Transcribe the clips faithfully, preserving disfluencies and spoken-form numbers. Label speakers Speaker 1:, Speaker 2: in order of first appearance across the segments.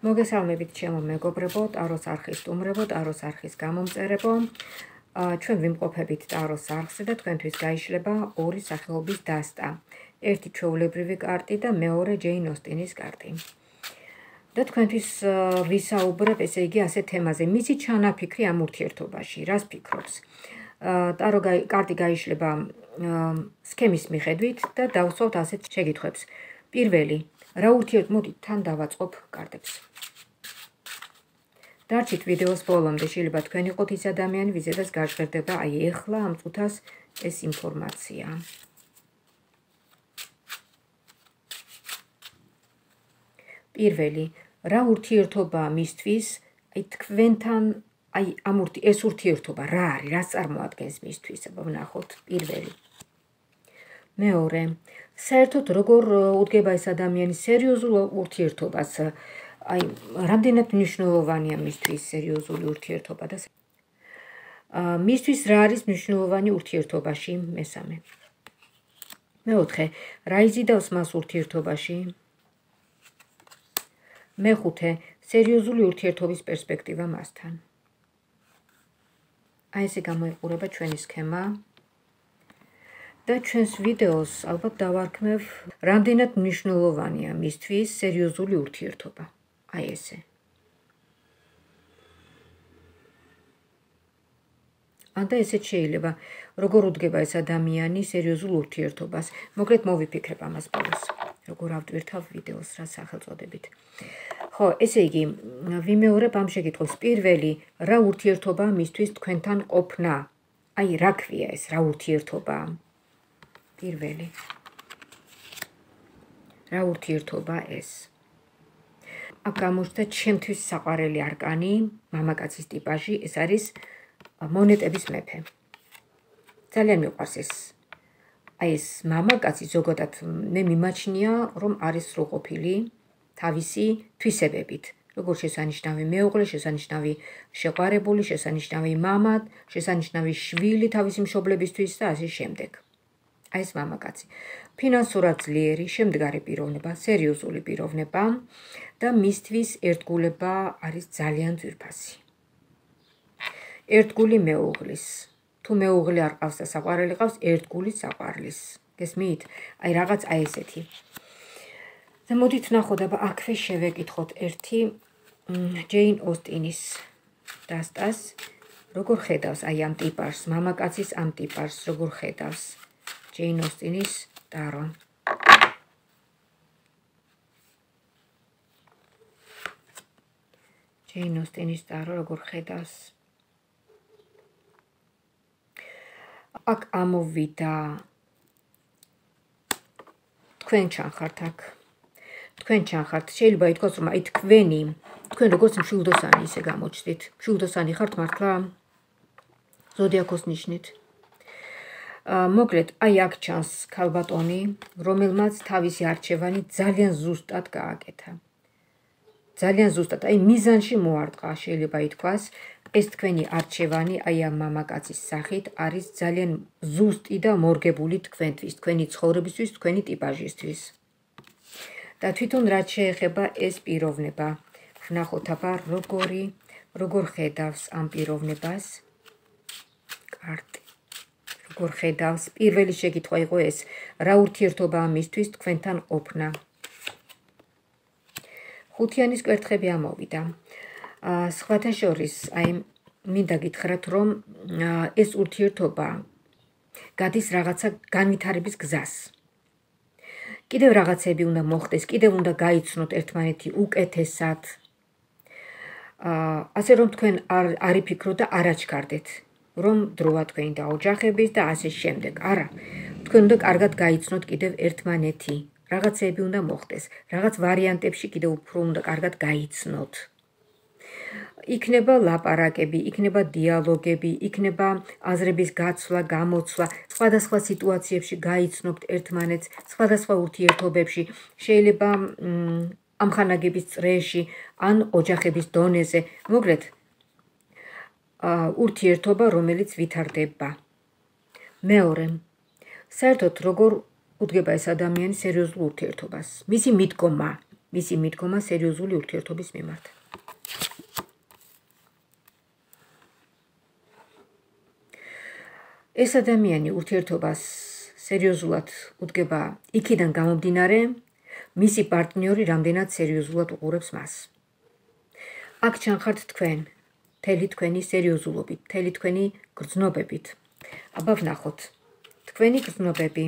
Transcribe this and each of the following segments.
Speaker 1: მოგესალმებით ჩემო მეგობრებო, ტაროს არხის სტუმრებო, ტაროს არხის გამომწერებო. ჩვენ ვიმყოფებით ტაროს არხზე და თქვენთვის გაიშლება ორი სახეობის დასტა. ერთი ჩვეულებრივი კარტი და მეორე ჯეინ ოსტინის კარტი. და თქვენთვის ვისაუბრებ, ესე იგი, ასე თემაზე, მისი ჩანაფიქრი ამ ურთიერთობაში, რას ფიქრობს. ტარო კარტი გაიშლება სქემის მიხედვით და დავსვათ ასეთ შეკითხვებს. პირველი, რა ურთიერთ, მოდით თან დავაწყობ კარტებს. დარჩით ვიდეოს ბოლომდე, შეიძლება თქვენ იყოთ ის ადამიანი, ვიზედაც გაჟღერდება აი ეხლა ამ წუთას ეს ინფორმაცია. პირველი, რა ურთიერთობაა მისთვის, აი თქვენთან, აი ამ ეს ურთიერთობა რა არის, რას წარმოადგენს მისთვის, აბა ვნახოთ, პირველი. მეორე, საერთოდ როგორ უდგება ეს ადამიანი სერიოზულ ურთიერთობას, აი რამდენად მნიშვნელოვანია მისთვის სერიოზული ურთიერთობა და მისთვის რა არის მნიშვნელოვანი ურთიერთობაში, მესამე. მეოთხე, რა იზიდავს მას ურთიერთობაში? მეხუთე, სერიოზული ურთიერთობის პერსპექტივა მასთან. აი ესე გამოიყურება ჩვენი სქემა. და ჩვენს ვიდეოს ალბათ დავარქმევ, რამდენად მნიშვნელოვანია მისთვის სერიოზული ურთიერთობა. აი ესე. ანდა ესეც შეიძლება, როგორ უდგება ეს ადამიანი სერიოზულ ურთიერთობას. მოკლედ მოვიფიქრებ ამას ბოლოს, როგორ ავტვირთავ ვიდეოს რა სახელწოდებით. ხო, ესე იგი, ვიმეორებ ამ შეკითხვას. პირველი, რა ურთიერთობაა მისთვის თქვენთან ყოფნა? აი, რა ქვია ეს, რა ურთიერთობაა? პირველი. რა ურთიერთობა ეს? აქ გამოჩნდა ჩემთვის საყვარელი არკანი, მამაკაცის ტიპაჟი, ეს არის მონეტების მეფე. ძალიან მიყვარს ეს. აი ეს მამაკაცი ზოგადად მე მიმაჩნია, რომ არის სრულყოფილი თავისი თვისებებით. როგორც შესანიშნავი მეუღლე, შესანიშნავი შეყვარებული, შესანიშნავი მამა, შესანიშნავი შვილი თავისი მშობლებისთვის და ასე შემდეგ. აი ეს მამაკაცი. ფინანსურად ძლიერი, შემდგარი პიროვნება, სერიოზული პიროვნება და მისთვის ერთგულება არის ძალიან ძვირფასი. ერთგული მეუღლის. თუ მეუღლე არ ყავს და საყვარელი ყავს, ერთგული საყვარლის. გესმით? აი რაღაც აი ესეთი. და მოდით ვნახოთ, აბა აქვე შევეკითხოთ ერთი ჯეინ ოსტინის დასტას, როგორ ხედავს აი ამ ტიპაჟს, მამაკაცის ამ ტიპაჟს, როგორ ხედავს ჯეინ ოსტინის ტარო. ჯეინ ოსტინის ტარო როგორ ხედავს. აქ ამოვიდა თქვენ ჩანხართ აქ. თქვენ ჩანხართ, შეიძლება ითქვას, რომ აი თქვენი, თქვენ როგორც მშვილდოსანი ისე გამოჩნდით. მშვილდოსანი ხართ მართლა ზოდიაქოს ნიშნით. მოკლედ, აი აქ ჩანს ქალბატონი, რომელმაც თავისი არჩევანი ძალიან ზუსტად გააკეთა. ძალიან ზუსტად, აი მიზანში მოარტყა, შეიძლება ითქვას, ეს თქვენი არჩევანი, აი ამ მამაკაცის სახით არის ძალიან ზუსტი და მორგებული თქვენთვის, თქვენი ცხოვრებისთვის, თქვენი ტიპაჟისთვის. და თვითონ რაც შეეხება ეს პიროვნება, ვნახოთ აბა როგორი, როგორ ხედავს ამ პიროვნებას კარტი. როგორ ხედავს, პირველი შეკითხვა იყო ეს, რა ურთიერთობაა მისთვის თქვენთან ყოფნა. ხუთიანის კვერთხები ამოვიდა. სხვათა შორის, აი მინდა გითხრათ, რომ ეს ურთიერთობა გადის რაღაცა განვითარების გზას. კიდევ რაღაცები უნდა მოხდეს, კიდევ უნდა გაიცნოთ ერთმანეთი უკეთესად. ასე რომ თქვენ არ იფიქროთ და არ აჩქარდეთ, რომ დროა თქვენი დაოჯახების და ასე შემდეგ. არა, თქვენ უნდა კარგად გაიცნოთ კიდევ ერთმანეთი. რაღაცები უნდა მოხდეს, რაღაც ვარიანტებში კიდევ უფრო უნდა კარგად გაიცნოთ. იქნება ლაპარაკები, იქნება დიალოგები, იქნება აზრების გაცვლა, გამოცვლა, სხვადასხვა სიტუაციებში გაიცნობთ ერთმანეთს, სხვადასხვა ურთიერთობებში, შეიძლება ამხანაგების წრეში, ან ოჯახების დონეზე. მოკლედ, ურთიერთობა, რომელიც ვითარდება. მეორე, საერთოდ როგორ უდგება ეს ადამიანი სერიოზულ ურთიერთობას. მისი მიდგომა, მისი მიდგომა სერიოზული ურთიერთობის მიმართ. ეს ადამიანი ურთიერთობას სერიოზულად უდგება იქიდან გამომდინარე, მისი პარტნიორი რამდენად სერიოზულად უყურებს მას. აქ ჩანხართ თქვენ, მთელი თქვენი სერიოზულობით, მთელი თქვენი გრძნობებით. აბა ვნახოთ, თქვენი გრძნობები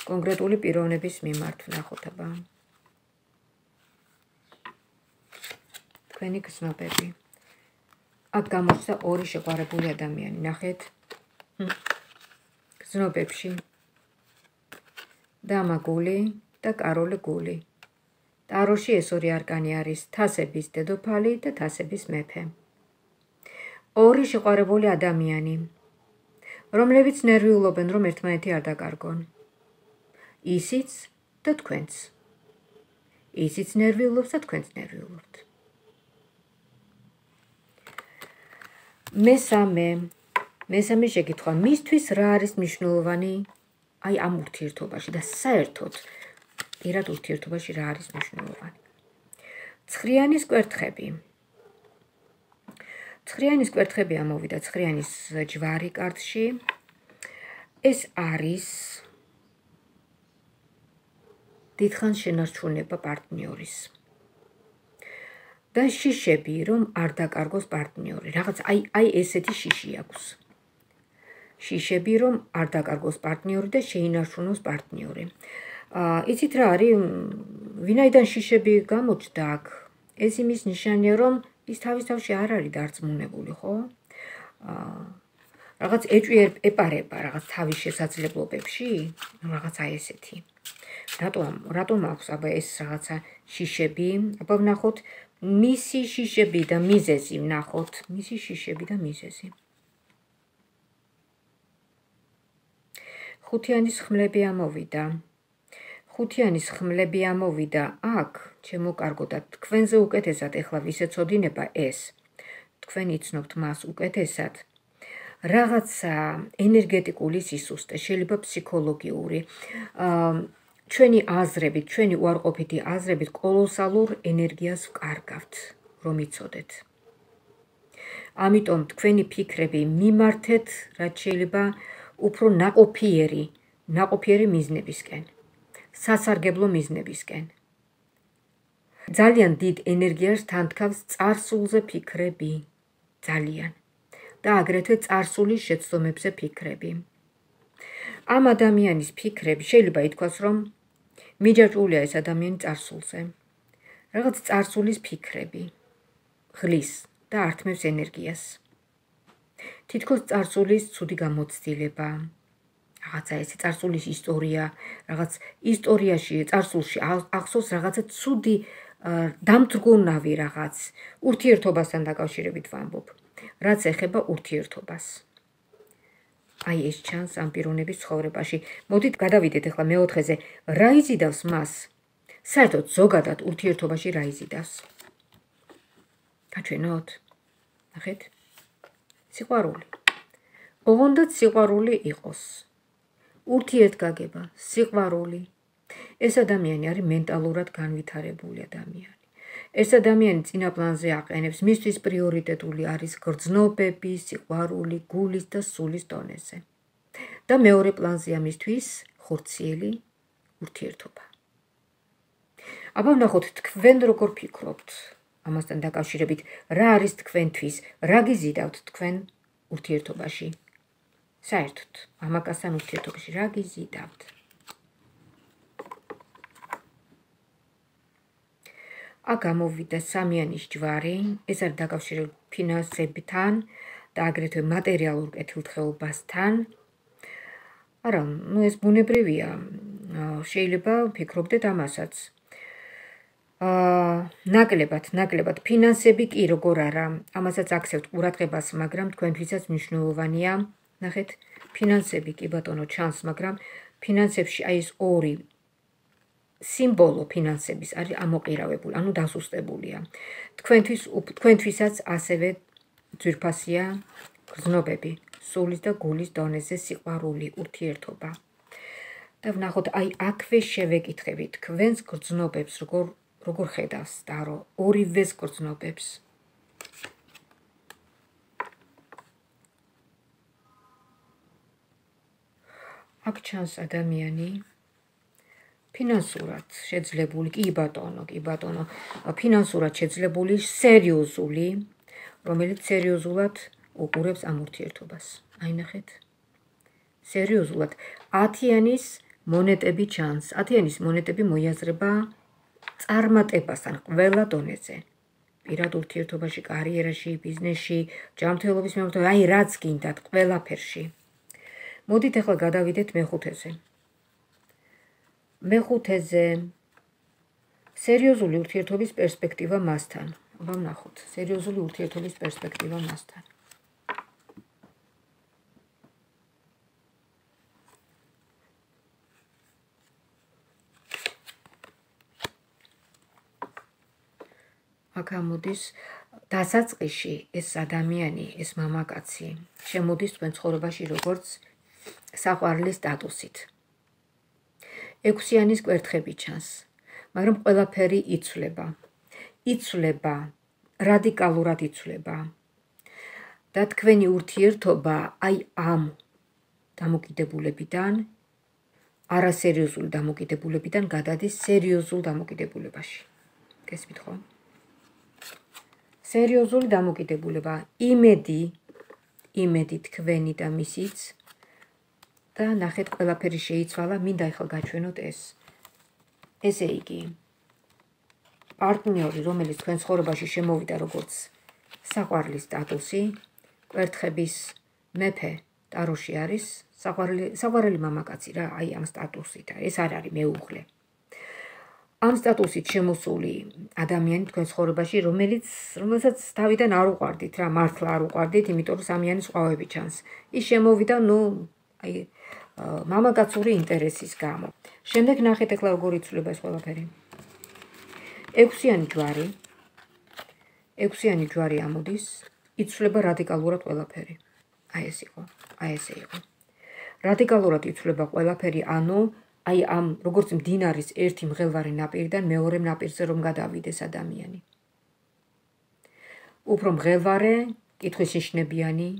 Speaker 1: კონკრეტული პიროვნების მიმართ ვნახოთ, აბა. თქვენი გრძნობები. აქ გამოჩნდა ორი შეყვარებული ადამიანი, ნახეთ. გრძნობებში დამა გული და კაროლე გული. ტაროში ეს ორი არკანი არის თასების დედოფალი და თასების მეფე. ორი შეყვარებული ადამიანი, რომლებიც ნერვიულობენ, რომ ერთმანეთი არ დაკარგონ. ისიც და თქვენც. ისიც ნერვიულობს და თქვენც ნერვიულობთ. მესამე, მესამე შეკითხვა, მისთვის რა არის მნიშვნელოვანი აი ამ ურთიერთობაში და საერთოდ პირად ურთიერთობაში რა არის მნიშვნელოვანი. ცხრიანის კვერთხები. ცხრიანის კვერთხები ამოვიდა ცხრიანის ჯვარი კარტში. ეს არის დიდხანს შენარჩუნება პარტნიორის. და შიშები, რომ არ დაკარგოს პარტნიორი. რაღაც აი აი ესეთი შიში აქვს. შიშები, რომ არ დაკარგოს პარტნიორი და შეინარჩუნოს პარტნიორი. აა იცით რა არის, ვინაიდან შიშები გამოჩნდა აქ, ეს იმის ნიშანია, რომ ის თავის თავში არ არის დარწმუნებული, ხო? აა რაღაც ეჭვი ეპარება რაღაც თავის შესაძლებლობებში, რაღაცა ესეთი. რატომ რატომ აქვს აბა ეს რაღაცა შიშები? აბა ვნახოთ მისი შიშები და მიზეზი ვნახოთ, მისი შიშები და მიზეზი. ხუთიანის ხმლები ამოვიდა. ხუთიანის ხმლები ამოვიდა აქ, ჩემო კარგოდათ, თქვენზე უკეთესად ეხლა ვისეცოდინება ეს. თქვენ იცნობთ მას უკეთესად. რაღაცა ენერგეტიკული სისუსტე, შეიძლება ფსიქოლოგიური, აა ჩვენი აზრებით, ჩვენი უარყოფითი აზრებით კოლოსალურ ენერგიას ვკარგავთ, რომ იცოდეთ. ამიტომ თქვენი ფიქრები მიმართეთ, რაც შეიძლება უფრო ნაყოფიერი, ნაყოფიერი მიზნებისკენ, სასარგებლო მიზნებისკენ. ძალიან დიდ ენერგიას თანთქავს წარსულზე ფიქრები, ძალიან. და აგრეთვე წარსულის შეცდომებზე ფიქრები. ამ ადამიანის ფიქრები შეიძლება ითქვას, რომ მიჯაჭვულია ეს ადამიანი წარსულზე. რაღაც წარსულის ფიქრები ღლის და ართმევს ენერგიას. თითქოს წარსულის ცუდი გამოცდილება, რაღაცა ესე წარსულის ისტორია, რაღაც ისტორიაში, წარსულში ახსოვს რაღაცა ცუდი დამთრგუნავი რაღაც ურთიერთობასთან დაკავშირებით ვამბობ, რაც ეხება ურთიერთობას. აი ეს ჩანს ამ პიროვნების ცხოვრებაში. მოდით გადავიდეთ ახლა მეოთხეზე, რა იზიდავს მას? საერთოდ ზოგადად ურთიერთობაში რა იზიდავს? გაჩვენოთ? ნახეთ? სიყვარული. ოღონდაც სიყვარული იყოს. ურთიერთგაგება, სიყვარული. ეს ადამიანი არის მენტალურად განვითარებული ადამიანი. ეს ადამიანი წინა პლანზე აყენებს, მისთვის პრიორიტეტული არის გრძნობები, სიყვარული, გულის და სულის დონეზე. და მეორე პლანზეა მისთვის ხორციელი ურთიერთობა. აბა ვნახოთ თქვენ როგორ ფიქრობთ ამასთან დაკავშირებით, რა არის თქვენთვის, რა გიზიდავთ თქვენ ურთიერთობაში? საერთოდ, ამაკასთან ურთიერთობაში რა გიზიდავთ? აქ გამოვიდა სამიანის ჯვარი, ეს არის დაკავშირებული ფინანსებთან და აგრეთვე მატერიალურ კეთილდღეობასთან. არა, ну ეს ბუნებრივია. შეიძლება ვფიქრობდეთ ამასაც. აა ნაკლებად, ნაკლებად ფინანსები კი როგორ არა, ამასაც აქცევთ ყურადღებას, მაგრამ თქვენთვისაც მნიშვნელოვანია. ნახეთ, ფინანსები კი ბატონო ჩანს, მაგრამ ფინანსებში აი ეს ორი სიმბოლო ფინანსების არის ამოყირავებული, ანუ დასუსტებულია. თქვენთვის თქვენთვისაც ასევე ძვირფასია გრძნობები, სულის და გულის დონეზე სიყვარული, ურთიერთობა. და ვნახოთ აი აქვე შევეკითხებით თქვენს გრძნობებს როგორ როგორ ხედავს ტარო ორივეს გრძნობებს. აქ ჩანს ადამიანი ფინანსურად შეძლებული, კი ბატონო, კი ბატონო, ფინანსურად შეძლებული, სერიოზული, რომელიც სერიოზულად უყურებს ამ ურთიერთობას. აი ნახეთ. სერიოზულად ათიანის მონეტები ჩანს. ათიანის მონეტები მოიაზრება წარმატებასთან ყველა დონეზე. პირად ურთიერთობაში, კარიერაში, ბიზნესში, ჯანმრთელობის მიმართულებით, აი რაც გინდათ, ყველაფერში. მოდით ახლა გადავიდეთ მეხუთეზე. მეხუთეზე სერიოზული ურთიერთობის პერსპექტივა მასთან. აბა ვნახოთ, სერიოზული ურთიერთობის პერსპექტივა მასთან. აქ ამოდის დასაწყისში ეს ადამიანი, ეს მამაკაცი შემოდის თქვენ ცხოვრებაში როგორც საყვარლის სტატუსით. ექვსიანის კვერთხები ჩანს, მაგრამ ყველაფერი იცვლება. იცვლება, რადიკალურად იცვლება. და თქვენი ურთიერთობა აი ამ დამოკიდებულებიდან, არასერიოზული დამოკიდებულებიდან გადადის სერიოზულ დამოკიდებულებაში. გესმით ხო? სერიოზული დამოკიდებულება, იმედი, იმედი თქვენი და მისიც და ნახეთ ყველაფერი შეიცვალა, მინდა ახლა გაჩვენოთ ეს. ესე იგი, პარტნიორი, რომელიც თქვენ ცხოვრებაში შემოვიდა როგორც საყვარლის სტატუსი, კვერთხების მეფე ტაროში არის, საყვარელი მამაკაცი რა, აი ამ სტატუსით, ეს არ არის მეუღლე. ამ სტატუსით შემოსული ადამიანი თქვენ ცხოვრებაში, რომელიც რომელსაც თავიდან არ უყვარდით რა, მართლა არ უყვარდით, იმიტომ რომ სამიანი სხვავები ჩანს. ის შემოვიდა, ნუ აი მამაკაცური ინტერესის გამო. შემდეგ ნახეთ ახლა როგორ იცვლება ეს ყველაფერი. ექვსიანი ჯვარი, ექვსიანი ჯვარი ამოდის, იცვლება რადიკალურად ყველაფერი. აი ეს იყო, აი ესე იყო. რადიკალურად იცვლება ყველაფერი, ანუ აი ამ როგორც მდინარის ერთი მღელვარე ნაპირიდან მეორე ნაპირზე რომ გადავიდეს ადამიანი. უფრო მღელვარე, კითხვისნიშნებიანი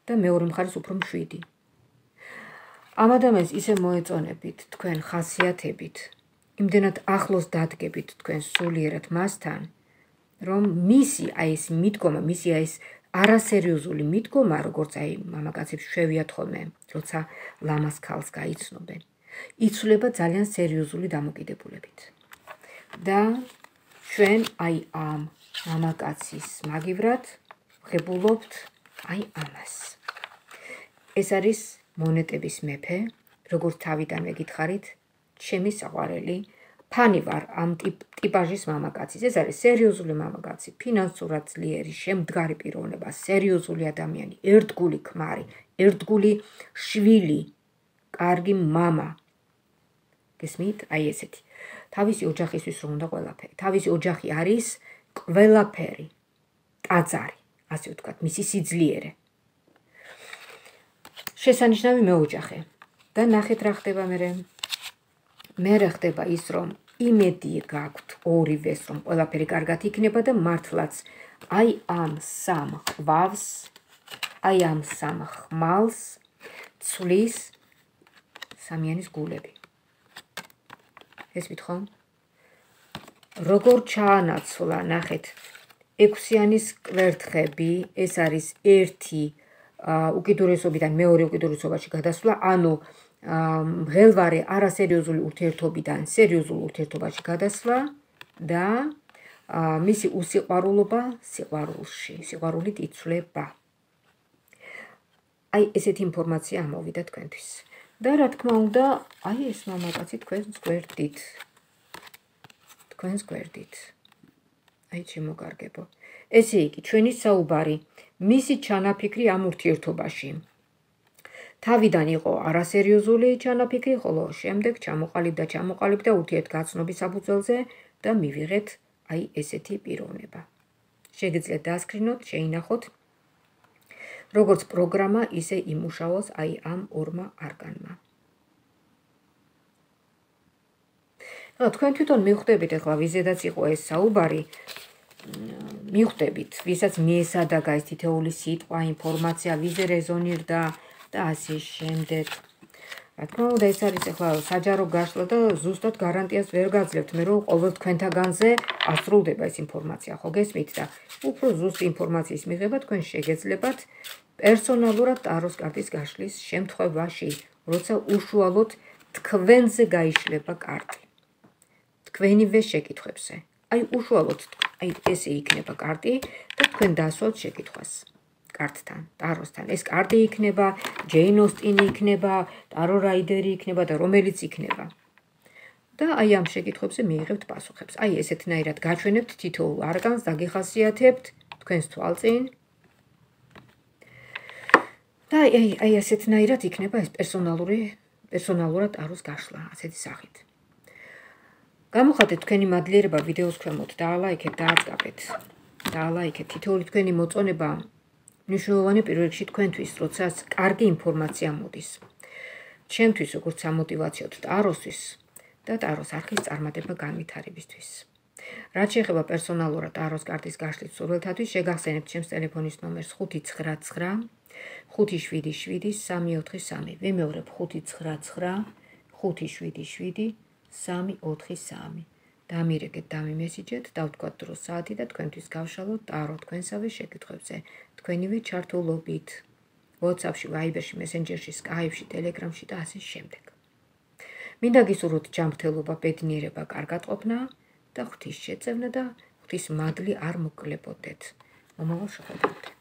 Speaker 1: და მეორე მხარეს უფრო მშვიდი. ამ ადამიანს ისე მოეწონებით თქვენ ხასიათებით, იმდენად ახლოს დადგებით თქვენ სულიერად მასთან, რომ მისი აი ეს მიდგომა, მისი აი ეს არასერიოზული მიდგომა, როგორც აი მამაკაცებს შვევიათ ხოლმე, როცა ლამას ქალს გაიცნობენ. იცვლება ძალიან სერიოზული დამოკიდებულებით. და ჩვენ აი ამ მამაკაცის მაგივრად ვღებულობთ აი ამას. ეს არის მონეტების მეფე, როგორც თავიდანვე გითხარით, ჩემი საყვარელი, ფანი ვარ ამ ტიპაჟის მამაკაცის. ეს არის სერიოზული მამაკაცი, ფინანსურად ძლიერი, შემდგარი პიროვნება, სერიოზული ადამიანი, ერთგული ქმარი, ერთგული შვილი, კარგი მამა. გესმით? აი ესეთი. თავისი ოჯახისთვის რომ უნდა ყველაფერი. თავისი ოჯახი არის ყველაფერი. ტაძარი, ასე ვთქვათ, მისი სიძლიერე. შესანიშნავი მეოჯახე. და ნახეთ რა ხდება მერე. მერე ხდება ის, რომ იმედი გაქვთ ორივეს, რომ ყველაფერი კარგად იქნება და მართლაც აი ამ სამ ყვავს, აი ამ სამ ხმალს ცვლის სამიანის გულები. ესმით ხო? როგორ ჩაანაცვლა, ნახეთ, ექვსიანის კვერთხები, ეს არის ერთი უკიდურესობიდან მეორე უკიდურესობაში გადასვლა, ანუ მღელვარე არასერიოზული ურთიერთობიდან სერიოზულ ურთიერთობაში გადასვლა და მისი უსიყვარულობა სიყვარულში, სიყვარულით იცვლება. აი ესეთი ინფორმაცია ამოვიდა თქვენთვის. და რა თქმა უნდა, აი ეს მამაკაცი თქვენს გვერდით. თქვენს გვერდით. აი შემოგარგებო. ესე იგი, ჩვენი საუბარი, მისი ჩანაფიქრი ამ ურთიერთობაში. თავიდან იყო არასერიოზული ჩანაფიქრი, ხოლო შემდეგ ჩამოყალიბდა, ჩამოყალიბდა ურთიერთგაცნობის საფუძველზე და მივიღეთ აი ესეთი პიროვნება. შეგიძლიათ დაასკრინოთ, შეინახოთ, როგორც პროგრამა, ისე იმუშაოს აი ამ ორმა არკანმა. რა თქვენ თვითონ მიხვდებით ახლა ვიზედაც იყო ეს საუბარი მიხვდებით ვისაც მიესადაგა ეს თითეული სიტყვა ინფორმაცია ვიზე რეზონირდა და ასე შემდეგ რა თქმა უნდა ეს არის ახლა საჯარო გაშლა და ზუსტად გარანტიას ვერ გაძლევთ მე რომ ყოველ თქვენთაგანზე ასრულდება ეს ინფორმაცია ხო გესმით და უფრო ზუსტ ინფორმაციის მიღება თქვენ შეგეძლებათ პერსონალურად ტაროს კარტის გაშლის შემთხვევაში როცა უშუალოდ თქვენზე გაიშლება კარტი თქვენივე შეკითხვებზე აი უშუალოდ აი ესე იქნება კარტი და თქვენ დასვათ შეკითხვას კარტთან, ტაროსთან. ეს კარტი იქნება, ჯეინ ოსტინი იქნება, ტარო რაიდერი იქნება და რომელიც იქნება. და აი ამ შეკითხვებზე მიიღებთ პასუხებს. აი ესეთნაირად გაჩვენებთ თითოეულ არკანს, დაგიხასიათებთ თქვენს თვალწინ. და აი აი ესეთნაირად იქნება ეს პერსონალური პერსონალურად ტაროს გაშლა, ასეთი სახით. გამოხატეთ თქვენი მადლიერება ვიდეოს ქვემოთ, დაალაიქეთ, დააწყაბეთ. დაალაიქეთ თითოეული თქვენი მოწონება მნიშვნელოვანი პირველ რიგში თქვენთვის, როცა კარგი ინფორმაცია მოდის. ჩემთვის როგორც სამოტივაციოდ ტაროსთვის და ტაროს არხის წარმატება განვითარებისთვის. რაც შეეხება პერსონალურად ტაროს კარტის გაშლის მსურველთათვის, შეგახსენებთ ჩემს ტელეფონის ნომერს ხუთი ცხრა ცხრა ხუთი შვიდი შვიდი სამი ოთხი სამი. ვიმეორებ ხუთი ცხრა ცხრა ხუთი შვიდი შვიდი სამი ოთხი სამი. დამირეკეთ, დამიმესიჯეთ, დავთქვათ დროს საათი და თქვენთვის გავშალოთ ტარო თქვენსავე შეკითხვებზე. თქვენივე ჩართულობით, WhatsApp-ში, Viber-ში, Messenger-ში, Skype-ში, Telegram-ში და ასე შემდეგ. მინდა გისურვოთ ჯანმრთელობა, ბედნიერება, კარგატყოფნა და ღვთის შეწევნა და ღვთის მადლი არ მოკლებოდეთ. მომავალ შეხვედრამდე.